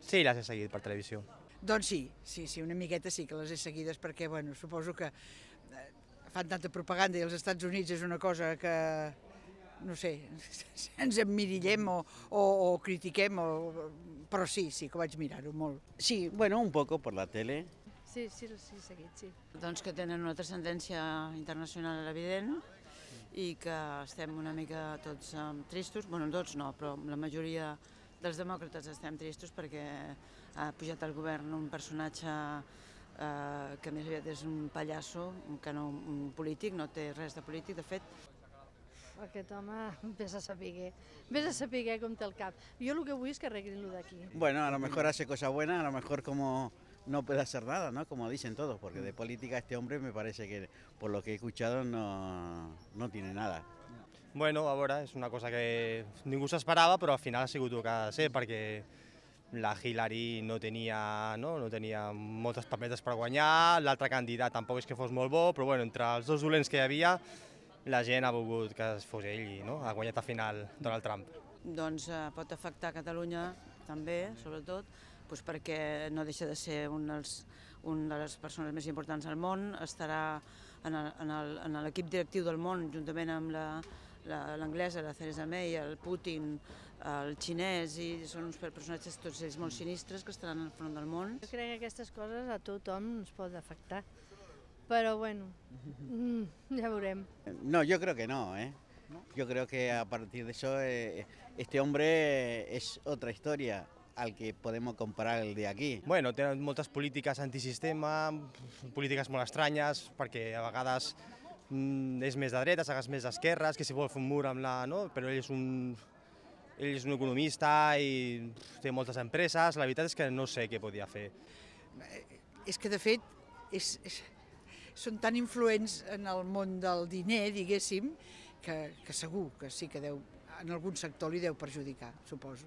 Sí, les he seguit per televisió. Doncs sí, una miqueta sí que les he seguides perquè, bueno, suposo que fan tanta propaganda i els Estats Units és una cosa que, no sé, ens emmirillem o critiquem, però sí que vaig mirar-ho molt. Sí, bueno, un poco por la tele. Sí, seguit, sí. Doncs que tenen una transcendència internacional evident i que estem una mica tots tristos, bueno, tots no, però la majoria dels demòcrates estem tristos perquè ha pujat al govern un personatge que més aviat és un pallasso, que no un polític, no té res de polític, de fet. Aquest home vés a saber com té el cap. Jo el que vull és que arreglin-lo d'aquí. Bueno, a lo mejor hace cosas buenas, a lo mejor como no puede hacer nada, ¿no? Como dicen todos, porque de política este hombre me parece que, por lo que he escuchado, no tiene nada. Bueno, a veure, és una cosa que ningú s'esperava, però al final ha sigut el que ha de ser, perquè la Hillary no tenia moltes paperetes per guanyar, l'altre candidat tampoc és que fos molt bo, però bueno, entre els dos dolents que hi havia, la gent ha volgut que fos ell i ha guanyat al final Donald Trump. Doncs pot afectar Catalunya també, sobretot, perquè no deixa de ser una de les persones més importants del món, estarà en l'equip directiu del món juntament amb l'anglesa, la Theresa May, el Putin, el xinès, i són uns personatges tots ells molt sinistres que estaran al front del món. Jo crec que aquestes coses a tothom ens pot afectar, però bueno, ja veurem. No, yo creo que no, ¿eh? Yo creo que a partir de eso este hombre es otra historia al que podemos comparar el de aquí. Bueno, tenen moltes polítiques antisistema, polítiques molt estranyes, perquè a vegades és més de dretes, a vegades més d'esquerres, que si vol fer un mur amb la... Però ell és un economista i té moltes empreses, la veritat és que no sé què podia fer. És que, de fet, són tan influents en el món del diner, diguéssim, que segur que sí que en algun sector li deu perjudicar, suposo.